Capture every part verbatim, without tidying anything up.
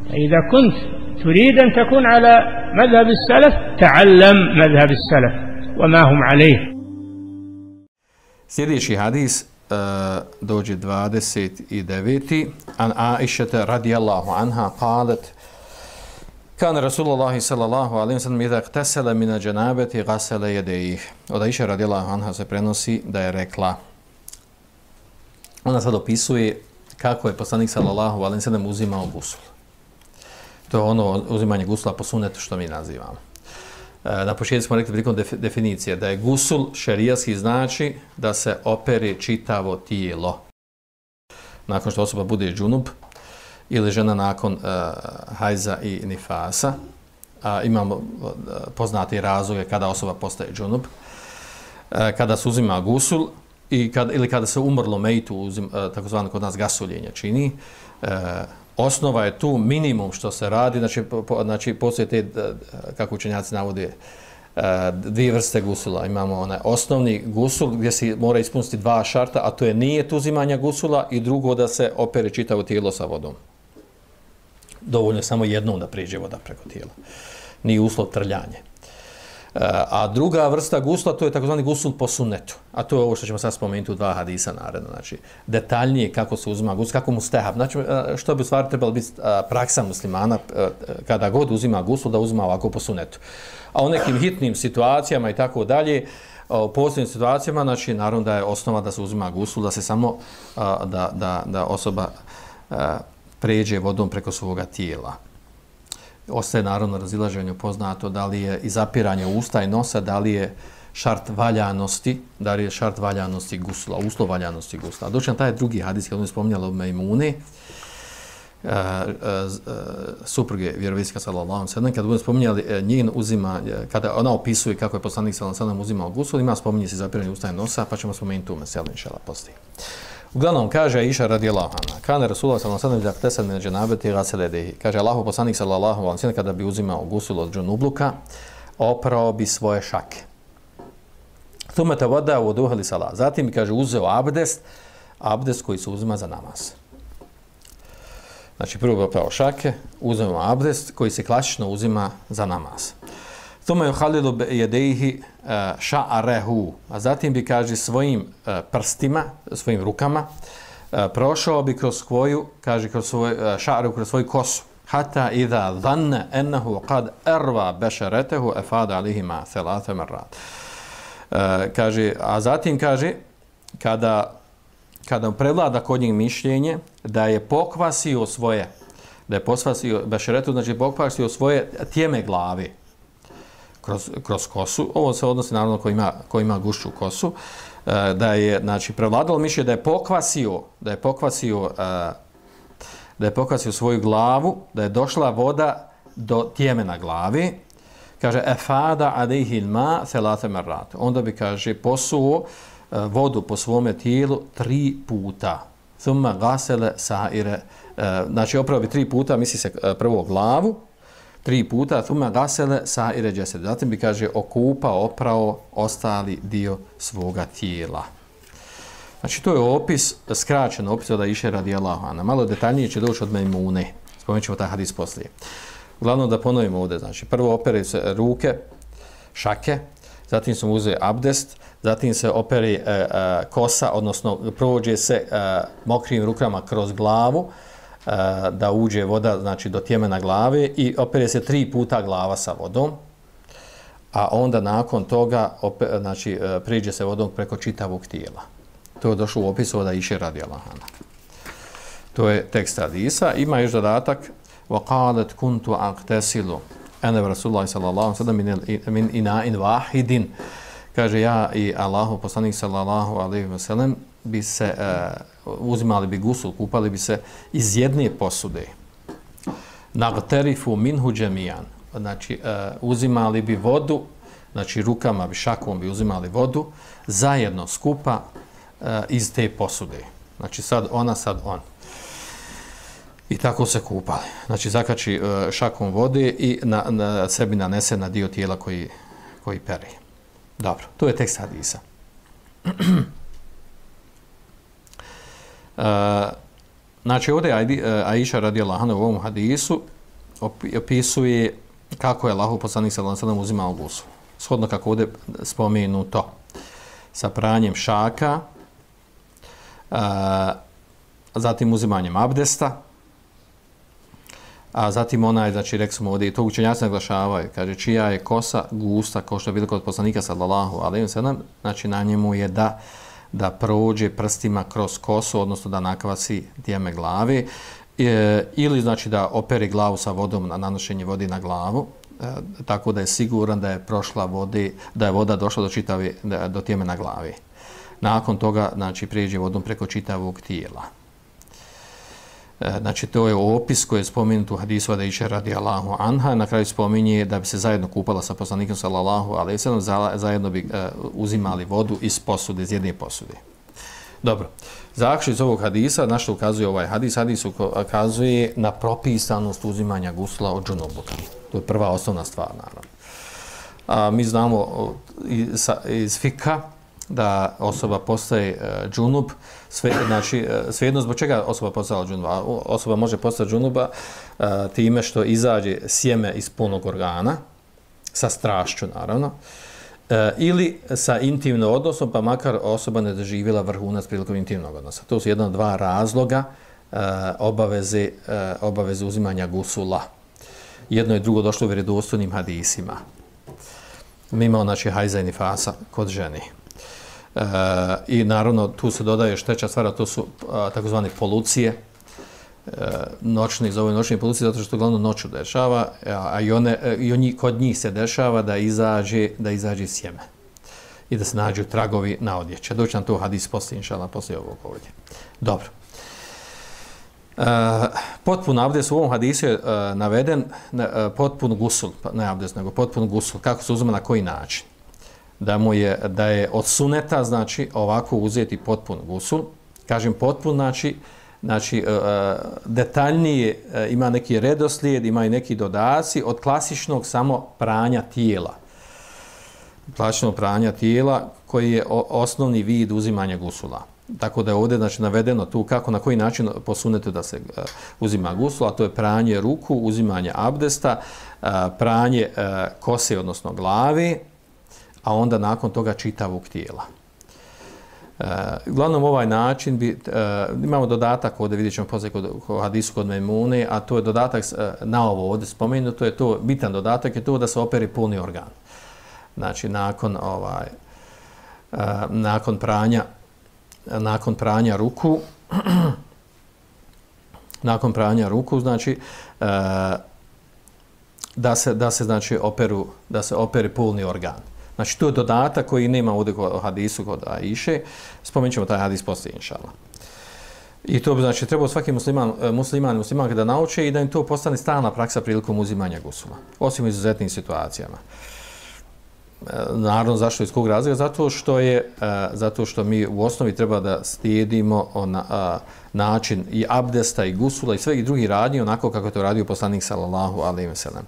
إذا كنت تريد أن تكون على مذهب السلف تعلم مذهب السلف وما هم عليه. Sljedeći hadis uh, dođe dvadeset devet. An Aishata radijallahu anha qalet kan Rasulullah sallallahu alejhi ve sellem idha ightasala min al-janabati ghasala yadayhi. Od Aisha radijallahu anha se prenosi da je rekla, ona sad opisuje kako je poslanik sallallahu alejhi ve sellem uzimao gusul. To je ono uzimanje gusula po sunnetu što mi nazivamo. Na početku smo rekli prilikom definicije da je gusul šerijatski znači da se opere čitavo tijelo. Nakon što osoba bude džunub ili žena nakon uh, hajza i nifasa, a imamo uh, poznati razloge kada osoba postaje džunub, uh, kada se uzima gusul i kad, ili kada se umrlo mejtu, uzim, uh, takozvano kod nas gasuljenje čini, uh, osnova je tu minimum što se radi, znači, po, znači postoje te, kako učenjaci navode, dvije vrste gusula. Imamo onaj osnovni gusul gdje se mora ispuniti dva šarta, a to je nijet uzimanja gusula i drugo da se opere čitavo tijelo sa vodom. Dovoljno je samo jednom da priđe voda preko tijela. Nije uslov trljanje. A druga vrsta gusla, to je takozvani gusul po sunnetu. A to je ovo što ćemo sad spomenuti u dva hadisa naredno. Znači, detaljnije kako se uzima gusul, kako mu stehab. Znači, što bi u stvari trebalo biti praksa muslimana kada god uzima gusul, da uzima ovako po sunnetu. A u nekim hitnim situacijama i tako dalje, u posljednim situacijama, znači, naravno da je osnova da se uzima gusul, da se samo, da, da, da osoba pređe vodom preko svoga tijela. Ostaje naravno razilaženje poznato da li je izapiranje usta i nosa, da li je šart valjanosti, da li je šart valjanosti gusula, uslov valjanosti gusula. Doći na taj drugi hadis, kada je spominjala od Mejmune, uh, uh, uh, supruge vjerovijeska sallallahu alejhi ve sellem, kada budemo spominjali uh, njen uzima, kada ona opisuje kako je poslanik sallallahu alejhi ve sellem uzimao gusul, ima spominje se izapiranje usta i nosa, pa ćemo spomenuti tu meselu inšala poslije. Uglavnom, kaže Aisha radijallahu anha, kana Rasulullah sallallahu alejhi ve sellem ihtesal min dženabeti ghasala yadayhi. Kaže Allahu poslanik sallallahu alejhi ve sellem kada bi uzimao gusul od džunubluka, oprao bi svoje šake. Thumma tawadda wuduha li salat. Zatim bi, kaže, uzeo abdest, abdest koji se uzima za namaz. Znači prvo bi oprao šake, uzeo abdest koji se klasično uzima za namaz. Thumma yukhalilu bi yadayhi ša'arehu, a zatim bi, kaže, svojim uh, prstima, svojim rukama, uh, prošao bi kroz svoju, kaže, kroz svoj ša'arehu, kroz svoju kosu. Hata idha dhanna ennehu qad erva bešaretehu efada alihima thelate marrat. Uh, kaže, a zatim, kaže, kada, kada prevlada kod njih mišljenje da je pokvasio svoje, da je pokvasio bešaretu, znači pokvasio svoje tijeme glave, Kroz, kroz kosu, ovo se odnosi naravno ko ima, ko ima gušću kosu, da je, znači, prevladalo mišljenje da je pokvasio, da je pokvasio, da je pokvasio svoju glavu, da je došla voda do tjemena glavi, kaže, efada alejhi ma thelate marrat. Onda bi, kaže, posuo vodu po svome tijelu tri puta. Thumma gasele saire, znači, opravo bi tri puta, misli se prvo glavu, tri puta, thumma gasele saire džesed. Zatim bi, kaže, okupao, oprao ostali dio svoga tijela. Znači, to je opis, skraćen opis od Aishe radijallahu anha. Malo detaljnije će doći od Mejmune. Spomenut ćemo taj hadis poslije. Uglavnom da ponovimo ovdje, znači, prvo opere se ruke, šake, zatim se uzeo abdest, zatim se opere e, e, kosa, odnosno prođe se e, mokrim rukama kroz glavu, da uđe voda, znači, do tjemena glave i opere se tri puta glava sa vodom, a onda nakon toga opet, znači, priđe se vodom preko čitavog tijela. To je došlo u opisu od Aishe radijallahu anha. To je tekst hadisa. Ima još dodatak وَقَالَتْ كُنْتُ أَغْتَسِلُ أَنَا رَسُولُ sallallahu alejhi ve sellem min ina'in wahidin. Kaže, ja i Allahu poslanik sallallahu alejhi ve sellem bi se uh, uzimali bi gusul, kupali bi se iz jedne posude. Nagtarifu minhu džemijan. Znači, uh, uzimali bi vodu, znači rukama bi, šakom bi uzimali vodu, zajedno skupa uh, iz te posude. Znači, sad ona, sad on. I tako se kupali. Znači, zakači uh, šakom vode i na, na sebi nanese na dio tijela koji, koji pere. Dobro, to je tekst hadisa. Uh, znači ovdje Aisha radijallahu anha u ovom hadisu opisuje kako je Allahov poslanik sallallahu alejhi ve sellem uzimao gusul. Shodno kako ovdje spomenuto sa pranjem šaka, a, zatim uzimanjem abdesta, a zatim onaj, znači rekli smo ovdje, i to učenjaci naglašavaju, kaže čija je kosa gusta, kao što je bilo kod poslanika sallallahu alejhi ve sellem, znači na njemu je da da prođe prstima kroz kosu, odnosno da nakvasi djeme glave, e, ili znači da opere glavu sa vodom na nanošenje vode na glavu, e, tako da je siguran da je prošla vode, da je voda došla do čitave, do tjeme na glavi. Nakon toga, znači, prijeđe vodom preko čitavog tijela. E, znači, to je opis koji je spomenut u hadisu Aisha radijallahu anha. Na kraju spominje da bi se zajedno kupala sa poslanikom sallallahu alejhi ve sellem, zajedno bi e, uzimali vodu iz posude, iz jedne posude. Dobro. Zaključno iz ovog hadisa, na što ukazuje ovaj hadis? Hadis ukazuje na propisanost uzimanja gusla od džunubuka. To je prva osnovna stvar, naravno. A, mi znamo iz, iz fika da osoba postaje uh, džunub, sve, znači, uh, svejedno zbog čega osoba postala džunuba. Osoba može postati džunuba uh, time što izađe sjeme iz polnog organa, sa strašću, naravno, uh, ili sa intimnim odnosom, pa makar osoba ne doživjela vrhunac prilikom intimnog odnosa. To su jedna od dva razloga uh, obaveze, uh, obaveze uzimanja gusula. Jedno i drugo došlo u vjerodostojnim hadisima. Mi imamo, znači, hajza i nifasa kod ženi. E, I naravno tu se dodaje još treća stvar, to su a, takozvane polucije, e, noćni, zove noćni polucije, zato što glavno noću dešava, a, a i, one, i oni, kod njih se dešava da izađe, da izađe sjeme i da se nađu tragovi na odjeće. Doći nam to hadis poslije, inšallah, poslije ovog ovdje. Dobro. E, potpun abdest u ovom hadisu je e, naveden ne, e, potpun gusul, ne abdest, nego potpun gusul. Kako se uzima, na koji način? Da mu je, da je od suneta, znači, ovako uzeti potpun gusul. Kažem potpun, znači, znači e, detaljnije, e, ima neki redoslijed, ima i neki dodaci od klasičnog samo pranja tijela. Klasičnog pranja tijela koji je o, osnovni vid uzimanja gusula. Tako da je ovdje, znači, navedeno tu kako, na koji način po sunetu da se uh, uzima gusul, a to je pranje ruku, uzimanje abdesta, uh, pranje uh, kose, odnosno glave, a onda nakon toga čitavog tijela. Uh, uglavnom ovaj način, bi, uh, imamo dodatak, ovdje vidjet ćemo poslije kod, kod hadisu kod Memune, a to je dodatak uh, na ovo ovdje spomenuto, je to, bitan dodatak je to da se operi polni organ. Znači, nakon, ovaj, uh, nakon pranja nakon pranja ruku nakon pranja ruku, znači uh, da se da se znači operu da se operi polni organ. Znači to je dodatak koji nema ovdje kod hadisu kod Aiše. Spomenut ćemo taj hadis poslije, inšallah. I to bi, znači, trebao svaki musliman, musliman i muslimanka da nauče i da im to postane stalna praksa prilikom uzimanja gusula. Osim u izuzetnim situacijama. Naravno, zašto, iz kog razloga? Zato što je, zato što mi u osnovi treba da slijedimo ona, način i abdesta i gusula i svih drugih radnji onako kako je to radio poslanik sallallahu alejhi ve sellem.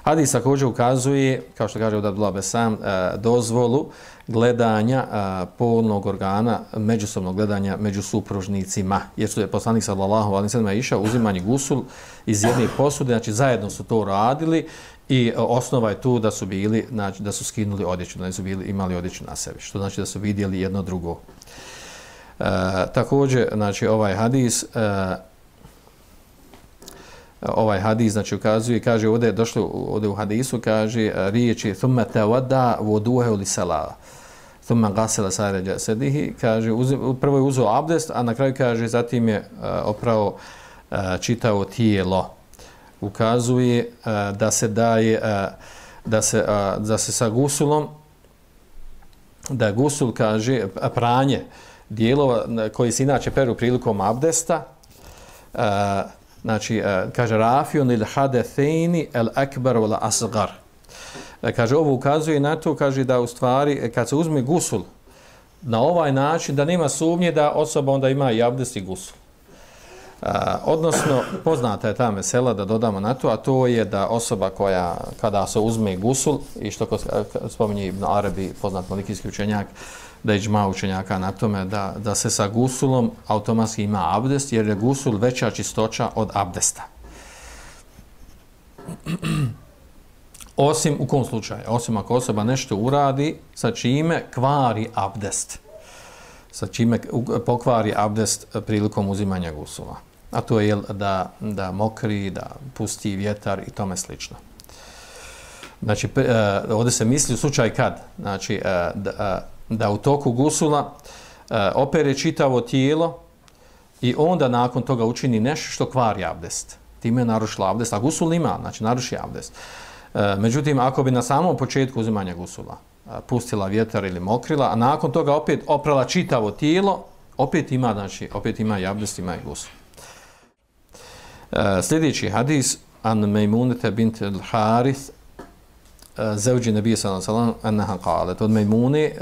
Hadis također ukazuje, kao što kaže Abdullah Besam, dozvolu gledanja polnog organa, međusobnog gledanja među supružnicima, jer su je poslanik sallallahu alejhi ve sellem išao uzimanje gusul iz jedne posude, znači zajedno su to radili i osnova je tu da su bili, znači da su skinuli odjeću, da su bili imali odjeću na sebi, što znači da su vidjeli jedno drugo. E, također, znači ovaj hadis e, ovaj hadis, znači, ukazuje, kaže, ovdje je došlo, ovdje u hadisu, kaže, riječi, thumma tawadda wudu'ahu li salah, thumma ghasala sa'ira jasadihi, kaže, uzim, prvo je uzeo abdest, a na kraju, kaže, zatim je uh, opravo uh, čitao tijelo. Ukazuje uh, da se daje, uh, da se, uh, da se sa gusulom, da gusul, kaže, pranje dijelova koji se inače peru prilikom abdesta, uh, znači, kaže, rafijun il hadethejni el akbar wal asgar. Kaže, ovo ukazuje na to, kaže, da u stvari, kad se uzme gusul na ovaj način, da nema sumnje da osoba onda ima i abdest i gusul. A, odnosno, poznata je ta mesela, da dodamo na to, a to je da osoba koja, kada se uzme gusul, i što spominje Ibn Arabi, poznat malikijski učenjak, da je džma učenjaka na tome da, da se sa gusulom automatski ima abdest, jer je gusul veća čistoća od abdesta. Osim u kom slučaju? Osim ako osoba nešto uradi sa čime kvari abdest. Sa čime pokvari abdest prilikom uzimanja gusula. A to je da, da mokri, da pusti vjetar i tome slično. Znači, ovdje se misli u slučaju kad? Znači, da, da u toku gusula opere čitavo tijelo i onda nakon toga učini nešto što kvari abdest. Time je narušila abdest, a gusul ima, znači naruši abdest. Međutim, ako bi na samom početku uzimanja gusula pustila vjetar ili mokrila, a nakon toga opet oprala čitavo tijelo, opet ima, znači, opet ima i abdest, ima i gusul. Sljedeći hadis, an Mejmunete bint al-Harith, zauđi nebija sallallahu alejhi ve sellem anha qalet, od Mejmune,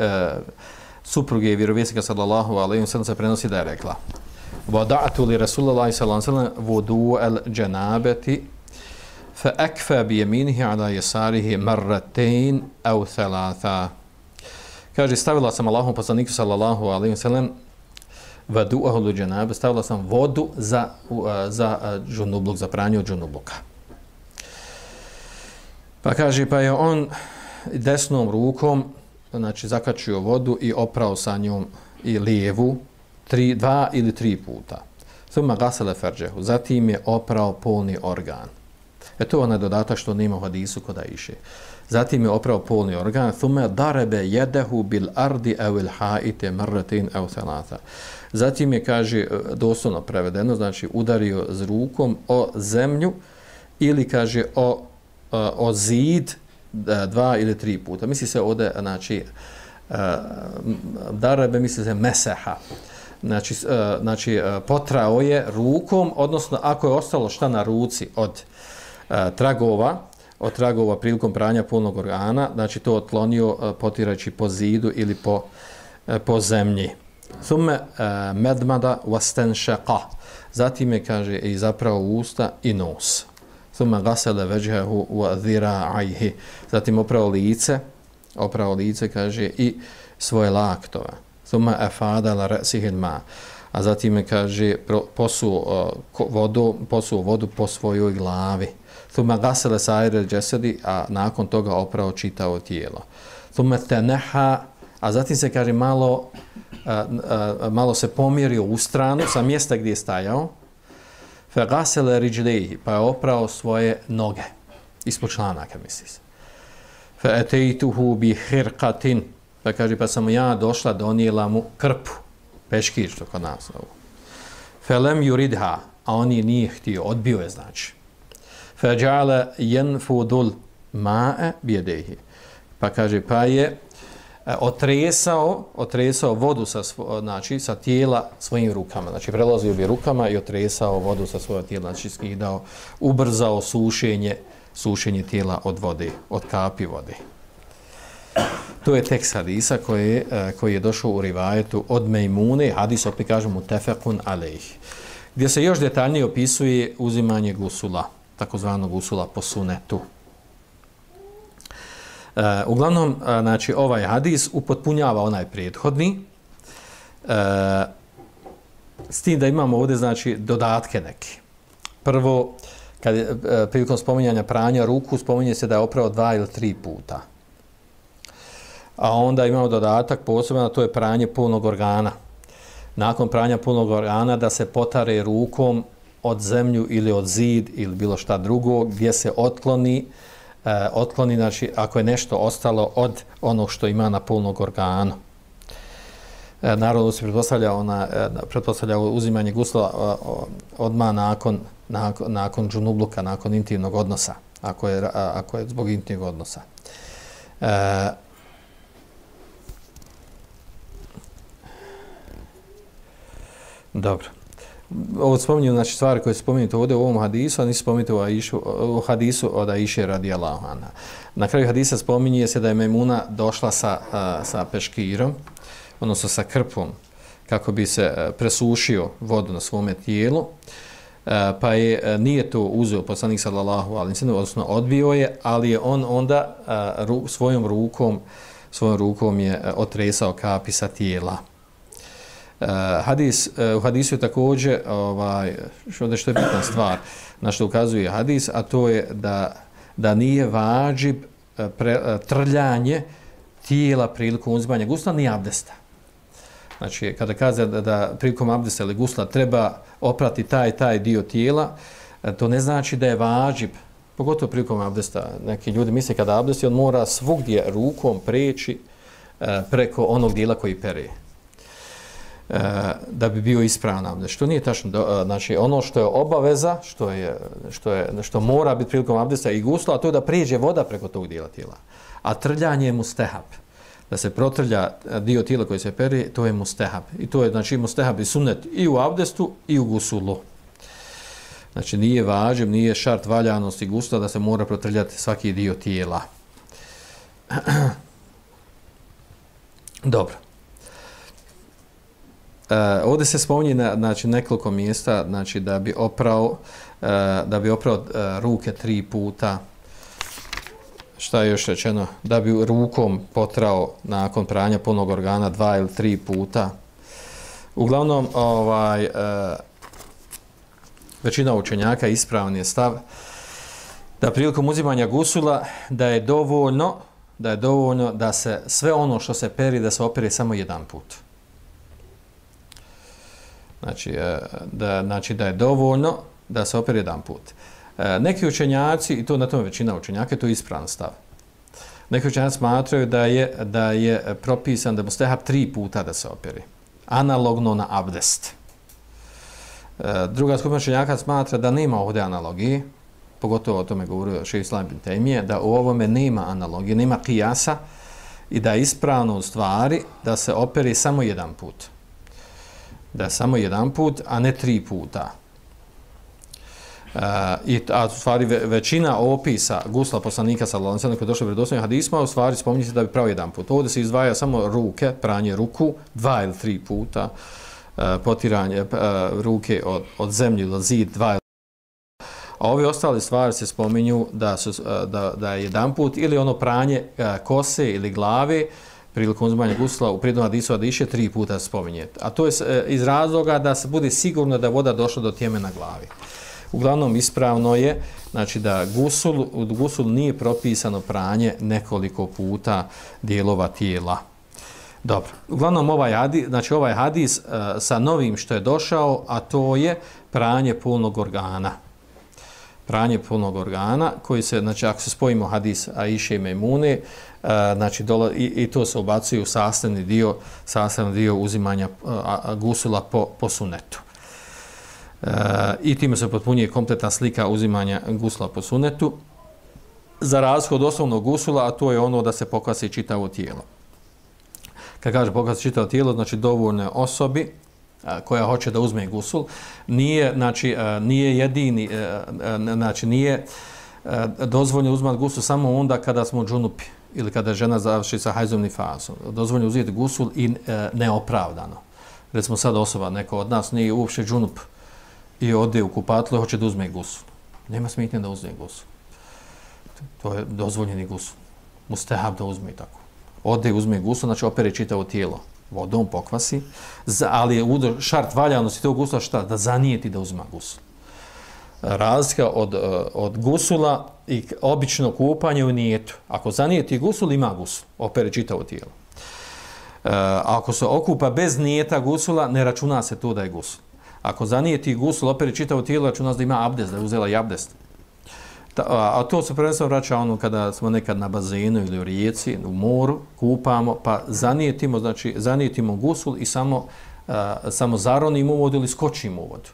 supruge vjerovjesnika sallallahu alejhi ve sellem se prenosi da je rekla: "Wada'tu li Rasulillahi sallallahu alejhi ve sellem wudu al-janabati fa akfa bi yaminihi ala yasarihi marratayn aw thalatha." Kaže, stavila sam Allahom poslaniku sallallahu alejhi ve sellem vadu'ahu al-janaba, stavila sam vodu za za džunubluk, za pranje od džunubluka. Pa kaže, pa je on desnom rukom, znači, zakačio vodu i oprao sa njom i lijevu tri, dva ili tri puta. Thumma gasala farđehu, zatim je oprao polni organ. E to je onaj dodatak što nema u hadisu kod Aiše. Zatim je oprao polni organ, thumma darebe jedehu bil ardi awil haite marratin aw thalatha. Zatim je, kaže, doslovno prevedeno, znači udario z rukom o zemlju ili, kaže, o o zid dva ili tri puta. Misli se ovdje, znači, darebe, misli se meseha. Znači, znači, potrao je rukom, odnosno ako je ostalo šta na ruci od tragova, od tragova prilikom pranja polnog organa, znači to otklonio potirajući po zidu ili po, po zemlji. Thumme medmada wastanshaqa. Zatim je, kaže, i zapravo usta i nos. Thumma gasala vajhahu wa dhira'ayhi. Zatim oprao lice, oprao lice, kaže, i svoje laktove. Thumma afada la ra'sihi al-ma. A zatim je, kaže, posuo vodu, posuo vodu po svojoj glavi. Thumma gasala sa'ir al-jasadi, a nakon toga oprao čitavo tijelo. Thumma tanaha, a zatim se, kaže, malo a, a, malo se pomjerio u stranu sa mjesta gdje je stajao. Fagasala rijlejhi, pa je oprao svoje noge ispod članaka, misli se. Fa ataytuhu bi khirqatin, pa kaže, pa sam ja došla, donijela mu krpu, peškir, što kod nas zovu. Fa lam yuridha, a on je nije htio, odbio je, znači. Fa ja'ala yanfudul ma'a bi yadayhi, pa kaže, pa je otresao, otresao vodu sa, svo, znači, sa tijela svojim rukama. Znači, prelazio bi rukama i otresao vodu sa svojeg tijela. Znači, skidao, ubrzao sušenje, sušenje tijela od vode, od kapi vode. To je tekst hadisa koji, koji je došao u rivajetu od Mejmune, hadis opet kažemo tefekun alejh, gdje se još detaljnije opisuje uzimanje gusula, takozvanog gusula po sunetu. Uh, uglavnom, uh, znači, ovaj hadis upotpunjava onaj prethodni, uh, s tim da imamo ovdje, znači, dodatke neki. Prvo, kad je, uh, prilikom spominjanja pranja ruku, spominje se da je oprao dva ili tri puta. A onda imamo dodatak posebno, to je pranje polnog organa. Nakon pranja polnog organa da se potare rukom od zemlju ili od zid ili bilo šta drugo, gdje se otkloni Uh, otkloni, znači, ako je nešto ostalo od onog što ima na polnog organu. Uh, naravno se pretpostavlja, ona, uh, pretpostavlja uzimanje gusla uh, odmah nakon, nakon, nakon džunubluka, nakon intimnog odnosa, ako je, uh, ako je zbog intimnog odnosa. Uh, dobro. Ovo spominju, znači, stvari koje se spominjete ovdje u ovom hadisu, a nisu spominjete u, Aišu, u hadisu od Aiše radijallahu anha. Na kraju hadisa spominje se da je Mejmuna došla sa, sa peškirom, odnosno sa krpom, kako bi se presušio vodu na svome tijelu, pa je, nije to uzeo poslanik sallallahu alejhi ve sellem, odnosno odbio je, ali je on onda ru, svojom rukom svojom rukom je otresao kapi sa tijela. Uh, hadis, uh, u hadisu je također, ovaj, što, što je bitna stvar, na što ukazuje hadis, a to je da, da nije vađib uh, pre, uh, trljanje tijela prilikom uzimanja gusla, ni abdesta. Znači, kada kaže da, da prilikom abdesta ili gusla treba oprati taj taj dio tijela, uh, to ne znači da je vađib, pogotovo prilikom abdesta. Neki ljudi misle kada abdesti, on mora svugdje rukom preći uh, preko onog dijela koji pere. Da bi bio ispravan abdest. Što nije tačno. Znači, ono što je obaveza, što, je, što, je, što mora biti prilikom abdesta i gusla, a to je da prijeđe voda preko tog dijela tijela. A trljanje je mustehab. Da se protrlja dio tijela koji se peri, to je mustehab. I to je, znači, mustehab i sunnet i u abdestu i u gusulu. Znači, nije važib, nije šart valjanosti gusla da se mora protrljati svaki dio tijela. Dobro. Uh, ovdje se spominje na, znači, nekoliko mjesta, znači, da bi oprao, uh, da bi oprao uh, ruke tri puta. Šta je još rečeno? Da bi rukom potrao nakon pranja polnog organa dva ili tri puta. Uglavnom, ovaj, uh, većina učenjaka ispravan je stav da prilikom uzimanja gusula da je dovoljno, da je dovoljno da se sve ono što se peri, da se opere samo jedan put. Znači da, znači da je dovoljno da se opere jedan put. Neki učenjaci, i to na tome većina učenjaka, to je ispravan stav. Neki učenjaci smatraju da je, da je propisan da mustehab tri puta da se operi. Analogno na abdest. Druga skupina učenjaka smatra da nema ovdje analogije, pogotovo o tome govorio šejh Islam ibn Tejmije, da u ovome nema analogije, nema kijasa i da je ispravno u stvari da se operi samo jedan put. Da je samo jedan put, a ne tri puta. Uh, i, a u stvari ve, većina opisa gusla poslanika sallallahu alejhi ve sellem koji je došao u vjerodostojnim hadisima, u stvari spominje se da bi pravo jedan put. Ovdje se izdvaja samo ruke, pranje ruku, dva ili tri puta, uh, potiranje uh, ruke od, od zemlje ili zid, dva ili a ove ostale stvari se spominju da, su, uh, da, da je jedan put ili ono pranje uh, kose ili glave, prilikom uzimanja gusla u prijednom hadisu Adiše tri puta spominje. A to je iz razloga da se bude sigurno da voda došla do tjemena glavi. Uglavnom ispravno je, znači da gusul, u gusul nije propisano pranje nekoliko puta dijelova tijela. Dobro. Uglavnom ovaj hadis, znači ovaj hadis uh, sa novim što je došao, a to je pranje polnog organa. Pranje polnog organa koji se, znači ako se spojimo hadis Aiše i Mejmune, uh, znači dola, i, i to se ubacuje u sastavni dio, sastavni dio uzimanja uh, gusula po, po sunetu. Uh, I time se potpunjuje kompletna slika uzimanja gusula po sunetu. Za razliku od osnovnog gusula, a to je ono da se pokvasi čitavo tijelo. Kad kaže pokvasi čitavo tijelo, znači dovoljne osobi koja hoće da uzme gusul, nije, znači, nije jedini, znači nije dozvoljeno uzmati gusul samo onda kada smo džunupi ili kada žena završi sa hajzom nifasom. Dozvoljeno uzeti gusul i neopravdano. Recimo sad osoba, neko od nas nije uopšte džunup i ode u kupatlu i hoće da uzme gusul. Nema smetnje da uzme gusul. To je dozvoljeni gusul. Mustehab da uzme i tako. Ode i uzme gusul, znači opere čitavo tijelo. Vodom pokvasi, ali je šart valjanosti tog gusula šta? Da zanijeti da uzma gusul. Razlika od, od gusula i obično kupanje u nijetu. Ako zanijeti gusul, ima gusul. Opere čitavo tijelo. Ako se okupa bez nijeta gusula, ne računa se to da je gusul. Ako zanijeti gusul, opere čitavo tijelo, računa se da ima abdest, da je uzela i abdest. A to se prvenstveno vraća ono kada smo nekad na bazenu ili u rijeci, u moru, kupamo, pa zanijetimo, znači zanijetimo gusul i samo, uh, samo zaronimo u vodu ili skočimo u vodu.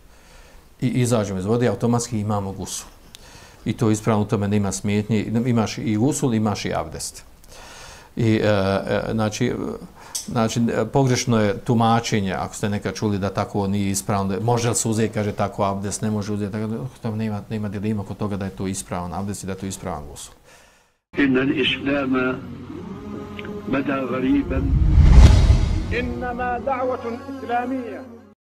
I izađemo iz vode i automatski imamo gusul. I to ispravno u tome nema smetnje, imaš i gusul, imaš i abdest. I, uh, uh, znači, znači, pogrešno je tumačenje, ako ste nekad čuli da tako nije ispravno, može li se uzeti, kaže tako abdest, ne može uzeti, tako nema, nema dilema kod toga da je to ispravan abdest i da je to ispravan gusul. Inna l-islama bada gariban. Innama da'vatun islamija.